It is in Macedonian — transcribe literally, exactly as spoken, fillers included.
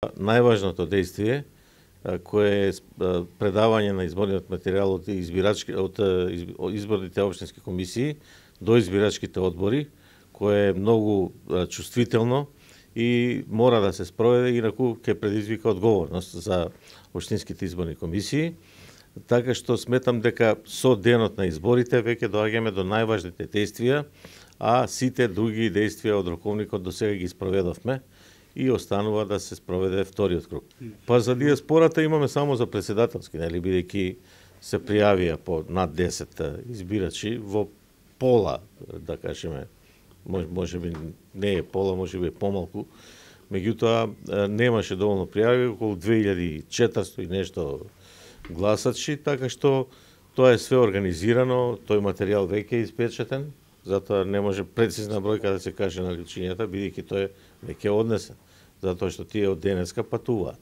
Најважното действие кое е предавање на изборниот материјал од избирачки од изборните општински комисии до избирачките одбори, кое е многу чувствително и мора да се спроведе, инаку ќе предизвика одговорност за општинските изборни комисии. Така што сметам дека со денот на изборите веќе доаѓаме до најважните действија, а сите други действија од роковникот до сега ги спроведовме и останува да се спроведе вториот круг. Па за диаспората имаме само за председателски, нели, бидејќи се пријавија по над десет избирачи во пола, да кажеме, може би не е пола, може би е помалку, меѓутоа немаше доволно пријави, околу две илјади и четиристотини и нешто гласачи, така што тоа е све организирано, тој материјал веќе е испечатен, затоа не може прецизна бројка да се каже на личињата, бидејќи тој е веќе однесен, затоа што тие од денеска патуваат.